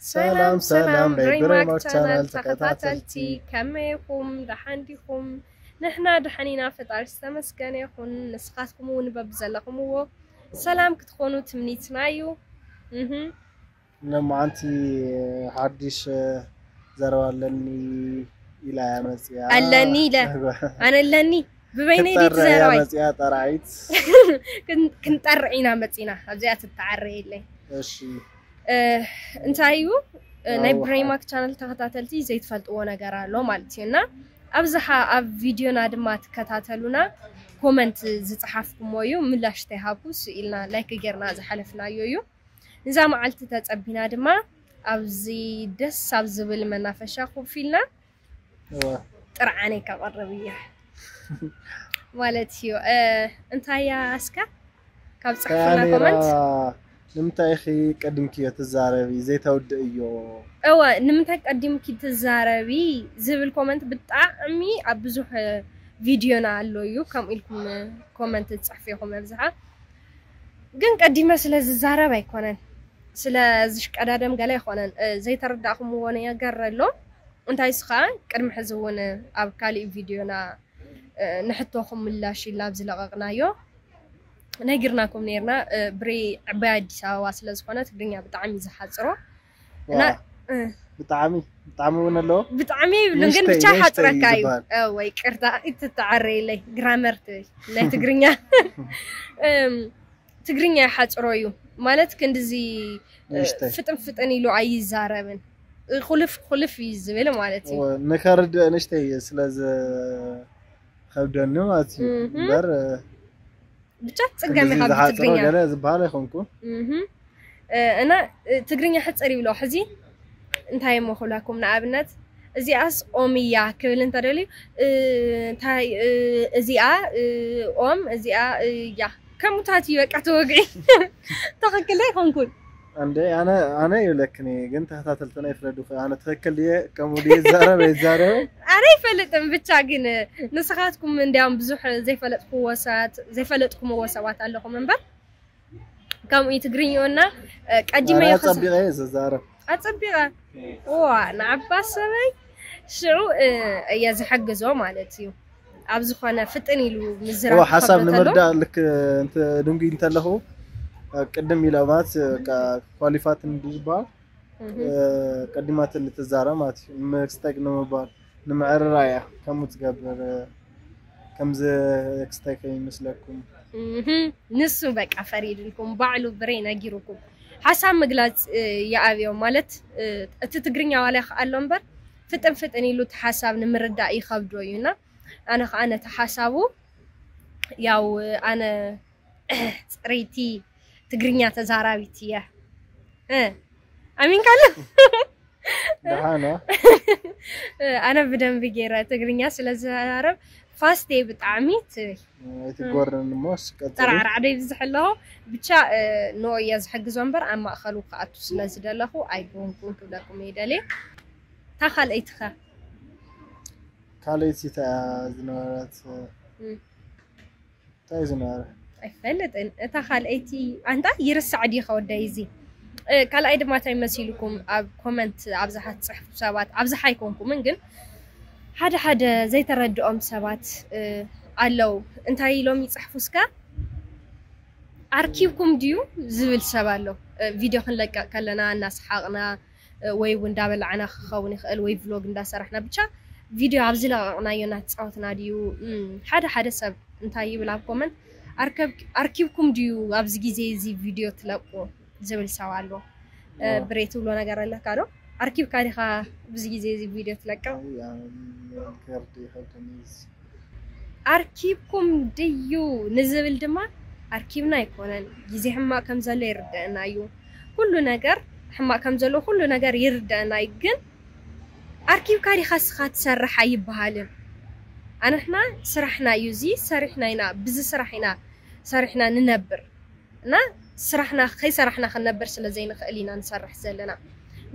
ሰላም፣ ሰላም፣ ናይ ብሬማክ ቻናል ተኸታተልቲ፣ ከመይ ኢኹም? ደሓን ዲኹም? ንሕና ደሓን ኢና፣ ፈጣሪ ዝተመስገነ ይኹን። ንስኻትኩም እውን በብዘለኹምዎ ሰላም ክትኾኑ ትምኒትና እዩ። እህ። ለማዓንቲ ሓድሽ ዘረባ ኣለኒ ኢላ እያ መፅያ። ኣለኒ ኢለ። ኣነ ኣለኒ። ብበይነይ ድዩ ክትጠርዕ እያ ትዘረባይ? መፅያ ጠራዒት። ክን-፣ ክንጠርዕ ኢና መፂና። ኣብዚኣ ትተዓረ የለይ። እሺ። እ፣ እንታይ እዩ? እ፣ ናይ ኣዋ። ብሬማክ ቻነል ተኸታተልቲ ዘይትፈልጥዎ ነገር ኣሎ ማለት እዩ። እና ኣብዝሓ ኣብ ቪድዮና ድማ ትከታተሉና፣ ኮመንት ዝፀሓፍኩሞ እዩ፣ ምላሽ ተይሃብኩ፣ ስኢልና ላይክ ጌርና ዝሓለፍናዮ እዩ። ንዛ መዓልቲ ተጸቢና ድማ ኣብዚ ደስ ኣብ ዝብል መናፈሻ ኮፍ ኢልና እዋ። ጥርዓነይ ከቕርብ እየ ማለት እዩ። እ፣ እንታይ እያ እስከ ካብ ጽሕፉና እንታይ ኮመንት? ንምንታይ ኢኺ ቀዲምክዮ ትዛረቢ? ዘይተውድእዮ። እወ፣ ንምንታይ ቀዲምኪ ትዛረቢ ዝብል ኮመንት ብጣዕሚ ኣብ ብዙሕ ቪድዮና ኣሎ እዩ። ከምኡ ኢልኩም ኮመንት ትጽሕፉ ኢኹም ኣብዝሓ። ግን ቀዲመ ስለ ዝዛረብ ኣይኮነን፣ ስለ ዝሽቀዳደም ገለ ኣይኮነን። እ፣ ዘይተረዳእኩምዎ ነገር ኣሎ። እንታይ እሱ ኸኣ ቅድሚ ሕዚ እውን ኣብ ካሊእ ቪድዮና፣ እ፣ ንሕቶኹም ምላሽ ኢልና ኣብ ዝለቐቕናዮ ነጊርናኩም ነይርና። እ፣ ብሬ ዕባይ ኣዲስ ኣበባ ስለ ዝኾነ ትግርኛ ብጣዕሚ እዩ ዝሓጽሮ። እና፣ ዋ። እ። ብጣዕሚ፣ ብጣዕሚ እውን ኣለዎ። ብጣዕሚ ይብሉን፣ ግን ንእሽተይ፣ ብቻ ንእሽተይ ሓጽረካ እዩ እዩ። ዝበሃል። እ፣ ወይ ቅርታ፣ ይትተዓረየለይ፣ ግራመር ትብል ናይ ትግርኛ። እም፣ ትግርኛ ይሓጽሮ እዩ። ማለት ክንድዚ፣ እ፣ ንእሽተይ። ፍጥን ፍጥን ኢሉ ኣይዛረብን። እ፣ ኩልፍ ኩልፍ እዩ ዝብል ማለት እዩ። እወ፣ ንኸርድእ ንእሽተይ ስለ ዝኸብደኒ ማለት እዩ። እምም። እምበር፣ እ፣ ብቻ ትጽገም ክንድዚ ኢኻ ዝሓጽሮ ብትግርኛ። ገለ ዝበሃል ኣይኮንኩን። እምም። እ፣ እና፣ እ፣ ትግርኛ ሕጽር ይብሎ። ሕዚ እንታይ እሞ ክብለኩም፣ ንኣብነት እዚኣስ ኦም እያ ክብል እንተደልዩ፣ እ፣ እንታይ፣ እ፣ እዚኣ፣ እ፣ ኦም፣ እዚኣ፣ እ፣ እያ። ከምኡታት እዩ በቃ ተወግዒ። ትኽክል ኣይኮንኩን። እንደ ኣነ፣ ኣነ ይብለክን እየ፣ ግን ተኸታተልትና ይፍረዱ። ኣነ ትኽክል ድየ፣ ከምኡ ድየ ይዛረብ፣ ኣይዛረብን? ኣነ ኣይፈልጥን፣ ብቻ ግን ንስኻትኩም እንዲያውም ብዙሕ ዘይፈለጥኩዎ ሰባት፣ ዘይፈለጥኩምዎ ሰባት ኣለኹም እምበር፣ ከምኡ እዩ ትግርኛና፣ እ፣ ቀዲመ ኣረ፣ እየ ክዝ-፣ ኣጸቢቐ እየ ዝዛረብ። ኣጸቢቐ? ዋ፣ ንዓባ ሰበይ ሽዑ፣ እ፣ እየ ዝሕግዞ ማለት እዩ። ኣብ ዝኾነ ፍጥን ኢሉ ምዝራብ ዋ፣ ሓሳብ ክኸብዶ ተሎ። ንምርዳእ ልክ እንተ ድንጉይ እንተለኹ፣ እ፣ ቅድም ኢለ ማለት፣ እ፣ ቃ-፣ ኳሊፋት እንዲ ዝበሃል፣ እህ። እ፣ ቀዲማትኒ ትዛረብ ማለት እዩ። ምስጠቅ ንምባል፣ ንምዕርራይ እያ ከምኡ ትገብር፣ እ፣ ከምዚ ክስታይ ከይመስለኩም። እህ። ንሱ በቃ ፈሪድልኩም፣ ባዕሉ ብሬ ነጊሩኩም። ሓሳብ ምግላጽ፣ እ፣ ይኣብዮ ማለት፣ እ፣ እቲ ትግርኛ ዋላ ይኽኣሎ እምበር፣ ፍጥን ፍጥን ኢሉ እቲ ሓሳብ ንምርዳእ ይኸብዶ እዩና፣ ኣነ ኸኣ ነቲ ሓሳቡ፣ ያው፣ ኣነ ጽረይቲ ትግርኛ ተዛራቢት እየ። እ፣ ኣሚንካሉ? ደሓን፣ እ? እ፣ ኣነ ብደንቢ ገይረ ትግርኛ ስለ ዝዛረብ ፋስት እየ ብጣዕሚ ትብል። ኣይትጎርን እሞ፣ እሺ፣ ቀጽሊ። ጠራዕራዕ ዶ ይብዝሕ ኣለኹ? ብቻ፣ እ፣ ንኦ እየ ዝሕግዞ እምበር ኣብ ማእኸሉ ክኣቱ ስለ ዝደለኹ ኣይጎንኩን ክብለኩም እየ ደልየ። እታ ካልኣይቲ ኸ? ካልኣይቲ እታ ዝነበረት፣ እ፣ እም። እንታይ ዝነበረ? ኣይፈልጥን። እታ ካልኣይቲ፣ ኣንታ ይርሳዕ ድዩ ከወዳይ እዚ? እ፣ ካልኣይ ድማ እንታይ መሲልኩም ኣብ ኮመንት ኣብዝሓ ትጽሕፉ ሰባት፣ ኣብዝሓ ኣይኮንኩምን፣ ግን ሓደ ሓደ ዘይተረድኦም ሰባት፣ እ፣ ኣለዉ። እንታይ ኢሎም ይጽሕፉ እስከ? ኣርኪብኩም ድዩ ዝብል ሰብ ኣሎ። እ፣ ቪድዮ ክንለቀቕ ከለና እናሰሓቕና፣ እ፣ ወይ እውን እንዳበላዕና ክኸውን ይኽእል፣ ወይ ቭሎግ እንዳሰራሕና፣ ብቻ ቪድዮ ኣብ ዝለቐቕናዮ እናተፃወትና ድዩ? እም፣ ሓደ ሓደ ሰብ እንታይ ይብል ኣብ ኮመንት፣ "ኣርከብ-፣ ኣርኪብኩም ድዩ ኣብዚ ግዜ እዚ ቪድዮ ትለቁ?" ዝብል ሰብ ኣሎ። እ፣ ዋ። ብሬ ትብሎ ነገር ኣለካ ዶ? ኣርኪብካ ዲኻ ኣብዚ ግዜ እዚ ቪድዮ ትለቅቕ? ኣይ፣ ኣነ ከርዲ ይኸብደኒ እዚ። ኣርኪብኩም ድዩ ንዝብል ድማ፣ ኣርኪብና ኣይኮነን፣ ግዜ ሕማቕ ከም ዘሎ ይርደአና እዩ። ኩሉ ነገር ሕማቕ ከም ዘሎ ኩሉ ነገር ይርደአና እዩ። ግን ኣርኪብካ ዲኻ እስኻ ትሰርሕ ኣይበሃልን። ኣንሕና ስራሕና እዩ፣ እዚ ሰሪሕና ኢና፣ ብዚ ስራሕ ኢና ሰሪሕና ንነብር። እና ስራሕና ከይሰራሕና ክንነብር ስለ ዘይንኽእል ኢና ንሰርሕ ዘለና።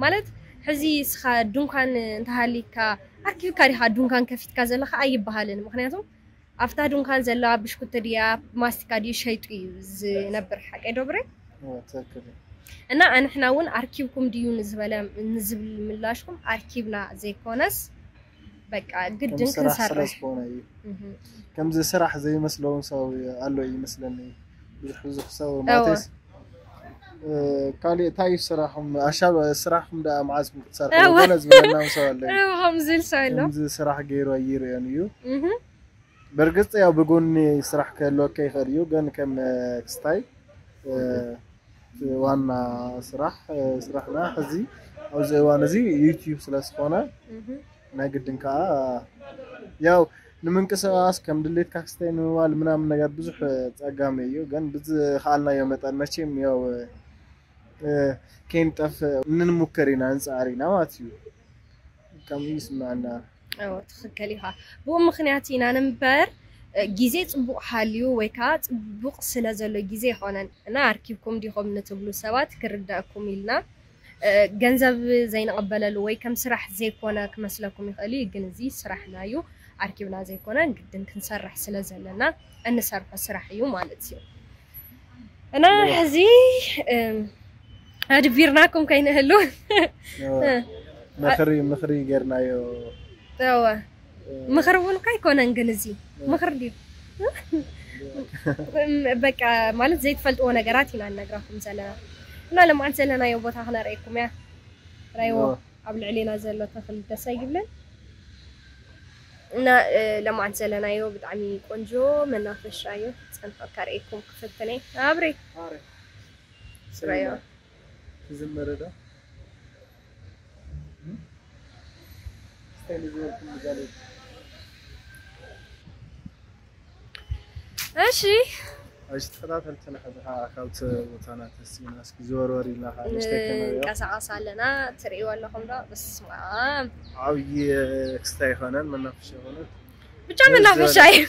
ማለት፣ ሕዚ እስኻ ድንኳን እንተሃሊካ፣ ኣርኪብካ ዲኻ ድንኳን ከፊትካ ዘለኻ ኣይበሃልን። ምኽንያቱ ኣብታ ድንኳን ዘለዋ ብሽኩቲ ድያ ማስቲካ ድዩ ሸይጡ እዩ ዝነብር። ሓቀይ ዶ ብሬ? ኦ፣ ትክክል እዩ። እና ኣንሕና እውን ኣርኪብኩም ድዩ ንዝበለ ንዝብል ምላሽኩም ኣርኪብና ዘይኮነስ በቃ ግድን ስራሕ ስለ ክንሰርሕ ዝኾነ እዩ። እህ። ከምዚ ስራሕ ዘይመስለውን ሰብ ኣሎ ይመስለኒ። ብዙሕ ብዙሕ ሰብ እወ። ማለትስ እ፣ ካሊእ እንታይ እዩ ስራሕኩም? ኣሻብ ስራሕኩም ደኣ መዓዝኩም ክትሰርሑ እወ። ገለ ዝበለና ሰብ ኣሎ እዩ። ከምዚ ኢል ሰብ ኣሎ ከምዚ ስራሕ ገይሩ ኣይርእዮን እዩ። እህ። በርግጽ ያው ብጎኒ ስራሕ ክህልወካ ይኽእል እዩ፣ ግን ከም እ፣ ክስታይ እ፣ ዋና ስራሕ እ፣ ስራሕና ሕዚ ኣብዚ እዋን እዚ ዩቲዩብ ስለ ዝኾነ እህ። ናይ ግድን ከዓ ያው ንምንቅስቃስ ከም ድሌትካ ክስታይ ንምባል ምናምን ነገር ብዙሕ ጸጋሚ እዩ፣ ግን ብዝኸኣልናዮ መጠን መቼም ያው እ፣ ከይንጠፍእ እንንሙከር ኢና፣ እንጽዓር ኢና ማለት እዩ። ከምኡ ይስምዐና። እዎ ትኽክል ኢኻ። ብኡ ምኽንያት ኢና እምበር እ፣ ግዜ ጽቡቕ ሃልዩ ወይ ከዓ ጽቡቕ ስለ ዘሎ ግዜ ይኾነን እና ኣርኪብኩም ዲኹም ንትብሉ ሰባት ክርዳእኩም ኢልና እ፣ ገንዘብ ዘይንቐበለሉ ወይ ከም ስራሕ ዘይኮነ ክመስለኩም ይኽእል እዩ፣ ግን እዚ ስራሕና እዩ። ኣርኪብና ዘይኮነ ግድን ክንሰርሕ ስለ ዘለና እንሰርሖ ስራሕ እዩ ማለት እዩ። እና ሕዚ እም፣ ኣድቢርናኩም ከይንህሉ ምኽሪ ምኽሪ ጌርናዮ። እወ ምኽሪ እውን እኮ ኣይኮነን፣ ግን እዚ ምኽሪ ድዩ? በቃ ማለት ዘይትፈልጥዎ ነገራት ኢና ንነግራኩም ዘለና እና ለማዓት ዘለናዮ ቦታ ክነርእየኩም እያ። ራይዎ እወ። ኣብ ልዕሌና ዘሎ ተኽሊ ደስ ኣይብልን እና እ፣ ለማዓት ዘለናዮ ብጣዕሚ ቆንጆ መናፈሻ እዩ። ጸንሖ ከርእየኩም ክፍትነ ኣብሪ ራዮ ትዝመረ ዶ? ስታይል ዝበልኩም ምዛሌ። እሺ እሺ ተኸታተልትና ሕዚ ከዓ ካብቲ ቦታና ተሲና እስኪ ዝወርወር ኢልና ከዓ ንእሽተይ ከነሪኦ። ንቀሳቀስ ኣለና። ትርእይዎ ኣለኹም ዶ? በስመ ኣብ ዓብዪ ክስታይ ይኾነን መናፈሻ ይኾነን ብቻ መናፈሻ እዩ።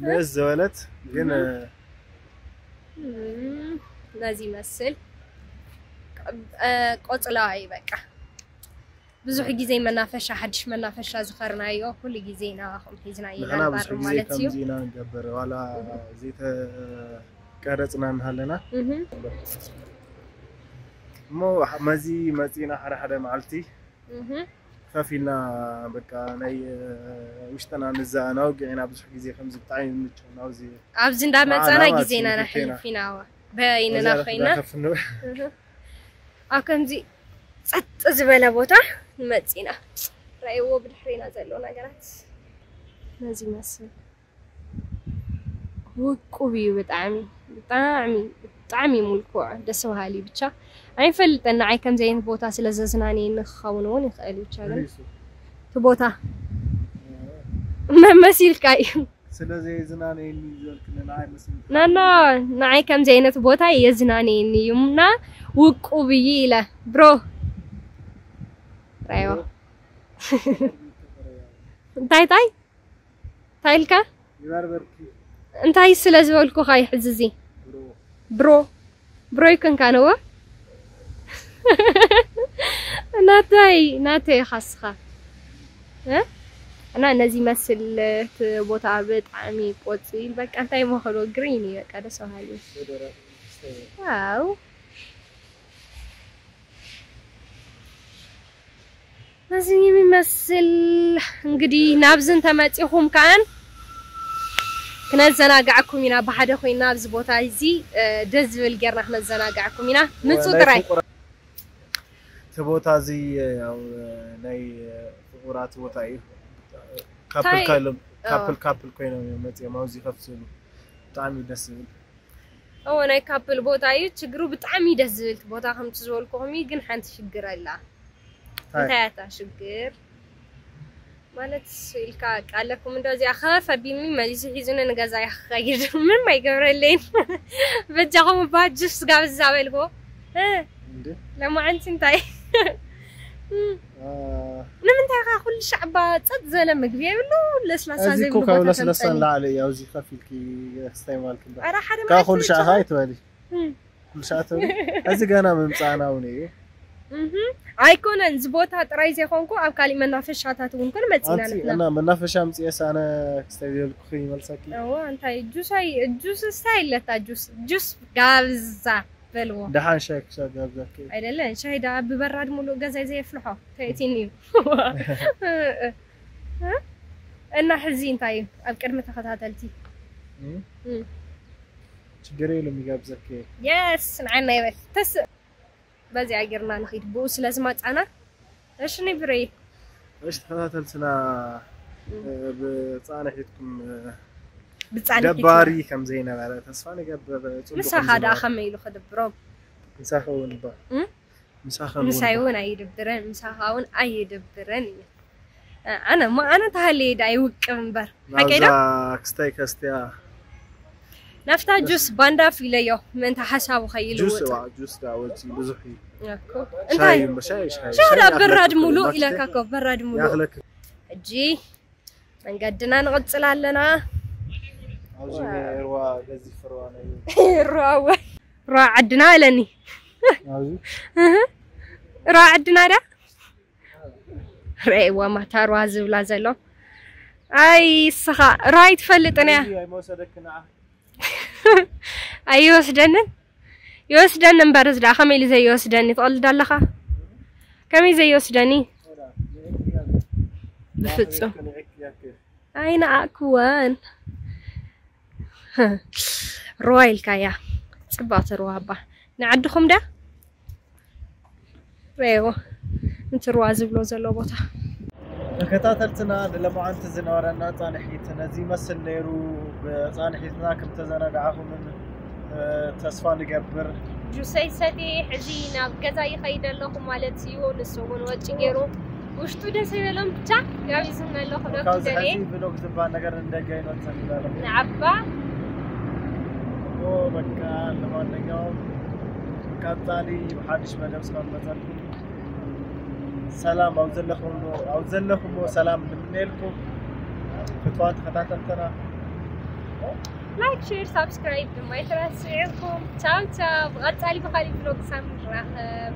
ንእስ ዝበለት ግን እም፣ ነዚ ይመስል እ፣ ቆጽላ እዩ በቃ። ብዙሕ ግዜ መናፈሻ ሓድሽ መናፈሻ ዝኸርናዮ ኩሉ ግዜ ናባኹም ሒዝና ኢና ንሕና ብዙሕ ንቐርብ ግዜ ማለት እዩ። ከምዚ ኢና ንገብር ዋላ ዘይተቀረፅና እናሃለና እህ። እሞ መዚ መፂና ሓደ ሓደ መዓልቲ እህ። ከፊልና በቃ ናይ ውሽጥና ንዘኣናውግዕ ኢና። ብዙሕ ግዜ ከምዚ ብጣዕሚ ምቹ ናብዚ ኣብዚ እንዳመፀና ንዓና ግዜና ማለት ነሕልፍ እዩ። ኢና ዋ በይንና ነዛ ኮይና ከፍንው እህ። ኣብ ከምዚ ጸጥ ዝበለ ቦታ ንመጽ ኢና። ራእይዎ ብድሕሪና ዘሎ ነገራት ነዚ ይመስል። ውቁብ እዩ ብጣዕሚ ብጣዕሚ ብጣዕሚ እዩ ምልኩዕ ደስ በሃሊ እዩ። ብቻ ኣይፈልጥን ንዓይ ከምዚ ዓይነት ቦታ ስለ ዘዝናንየኒ ክኸውን እውን ይኽእል እዩ። ብቻ ግን እቲ ቦታ መመሲልካ እዩ። ስለ ዘየዝናነየኒ ዝበልክኒ ንዓይ መስል ናና ንዓይ ከምዚ ዓይነት ቦታ የዝናንየኒ እዩ እና ውቁብ እዩ ኢለ ብሮ ራይዋ እንታይ እንታይ እንታይ ኢልካ ይበርበርኪ እንታይ ስለ ዝበልኩኻ ይሕዝዚ ብሮ ብሮ ብሮ ይኮንካ ነዎ ናተይ ናተይ ኢኻ እስኻ እ? እና ነዚ መስል እቲ ቦታ ብጣዕሚ ቆፂል በቃ እንታይ መኸሎ ግሪን እዩ በቃ ደስ በሃሊ ወደረ ስተየ ዋው ነዚ የሚመስል እንግዲህ ናብዚ እንተመፂኹም ከዓን ክነዘናግዓኩም ኢና ብሓደ ኮይና ኣብዚ ቦታ እዚ እ፣ ደስ ዝብል ጌርና ክነዘናግዓኩም ኢና ምፁ ጥራይ እቲ ቦታ እዚ ያው ናይ ፍቁራት ቦታ እዩ። ካፕል ታይ- ካሎም እ። ካፕል ካፕል ኮይኖም እዮም መፅኦም ኣብዚ ከፍፅሉ ብጣዕሚ ደስ ዝብል እዎ ናይ ካፕል ቦታ እዩ ችግሩ ብጣዕሚ ደስ ዝብል ቦታ ከምቲ ዝበልኩኹም እዩ ግን ሓንቲ ሽግር ኣላ ታይ? እንታይ ኣታ ሽግር ማለት ኢልካ ቃለኩም እንዶ እዚኣ ከፈቢኒ መሊሱ ሒዙኒ ንገዛ ይኸይድ ምንም ኣይገብረለይን በጃኹም እባ ጁስ ጋብዝ ዝበልኩ እ፣ እንዴ ለማዓንቲ እንታይ አ፣ ንምንታይ ኻ ኩሉ ሻዕባ ጸጥ ዘለ ምግቢ የብሉ ለስላሳ እዚ ዘይብሉ እኮ ካብ ቦታ ለስለሳ ተምፀኒ ንላዕሊ እዩ ኣብዚ ከፊልኪ ክስታይ ማልክ እንዳ ኧረ ሓደ ካብ ኩሉ መዓልቲ ሻዕ ብቻ- ኸ ኣይትበሊ እም፣ ኩሉ ሻዕ ትበሊ እዚ ገና ምምፃእና እውን እዩ እህ። ኣይኮነን እዚ ቦታ ጥራይ ዘይኮንኩ ኣብ ካሊእ መናፈሻታት እውን ኮን መፂና ኣንቲ ንሕና እና መናፈሻ ምፅኤስ ኣነ ክስታይ ዝበልኩ ይመልሰኪ እዋ እንታይ ጁስ ኣይ ጁስ ስታይ ኣለታ ጁስ ጁስ ጋብዛ በልዎ። ደሓን ሻይ ክሳብ ጋብዘኪ። ኣይደለን፣ ሻሂ ደኣ ብበራድ ሙሉእ ገዛይ ዘየፍልሖ ተእቲኒ እዩ። እና ሕዚ እንታይ እዩ ኣብ ቅድሚ ተኸታተልቲ? እም? ችግር የለም ይጋብዘኪ። የስ ንዓና ይበል ተስ በዚኣ ጌርና ንኺድ ብኡ ስለ ዝመጻና። እሺ ንብረይ እሺ ተኸታተልትና፣ ብጻንሒትኩም ብጻንሒት ደባሪ ከም ዘይነበረ ተስፋ ንገብር። ጽቡቕ ምሳኻ ከም ደኣ ዝነበረ። ከመይ ኢሉ ክድብሮም? ምሳኻ እውን እባ። እም? ምሳኻ እውን ምሳይ እባ። እውን ኣይድብረን፣ ምሳኻ እውን ኣይድብረን እዩ። ኣነ ሞ ኣነ ተሃልየ ደኣ ይውቅብ እምበር ሓቀይ ናብዛ ዶ? ክስታይ ከስትያ ናፍታ ጁስ ባንዳፍ ኢለዮ ምእንቲ ሓሳቡ ጁስ ከይልውጥ እዋ ጁስ ዳ ወፂ ብዙሕ እዩ። እኮ ሻይ እንታይ እምበር ሻይ ሻይ ሻዳ ሻይ በራድ ኣፍለጥኩ ሙሉእ ማክተ ኢለካ እኮ በራድ ሙሉእ ያኽለክ ሕጂ መንገድና ንቕጽል ኣለና። ኣብዚ ሩዋ ገዚፍ ሩዋ ናይ ሩዋ ሩዋ ዓድና ኣለኒ። ኣብዚ ሩዋ ዓድና ዳ ረእዋ ማታ ሩዋ ዝብላ ዘሎ ኣይ ስኻ ሩዋ ኣይትፈልጥን እያ። ኣይመወሰደክ ንዓ ኣይወስደንን ይወስደኒ እምበር እዚ ደኣ ከመይ ኢሉ ዘይወስደኒ ትቐልድ ኣለኻ? ከመይ ዘይወስደኒ? ብፍጹም ኣይነኣእክወን። ሩዋ ኢልካያ ጽባቕቲ ሩዋ እባ ንዓድኹም ድያ? ረእዎ እቲ ሩዋ ዝብሎ ዘሎ ቦታ ተከታተልትና ንለማዓንቲ ዝነበረና ፃንሒት ነዚ ይመስል ነይሩ። ብፃንሒትና ከም ተዘናጋዕኹምን እ፣ ተስፋ ንገብር። ጁሰይ ሰቲ ሕዚ ናብ ገዛ ይኸይድ ኣለኹ ማለት እዩ። ንሱ እውን ወጪ ገይሩ ውሽጡ ደስ ይበሎም ብቻ ጋቢዙና ኣሎ ክብለኩም ካብዚ ደልየ ሕዚ ብሎግ ዝበሃል ነገር እንደገ ይመፅእ ይበለ ንዓባ ኦ በቃ ለማንኛውም ቀፃሊ ብሓድሽ መደብ ስለ መፀልኩም ሰላም ኣብ ዘለኹም ኣብ ዘለኹምዎ ሰላም ንምነየልኩም ፍትዋን ተኸታተልተና ላይክ ሼር ሳብስክራይብ ድማ ይትረስዕኩም። ቻው ቻው። ብቐፃሊ ብኻሊእ ብሎግ ሳም ንራኸብ።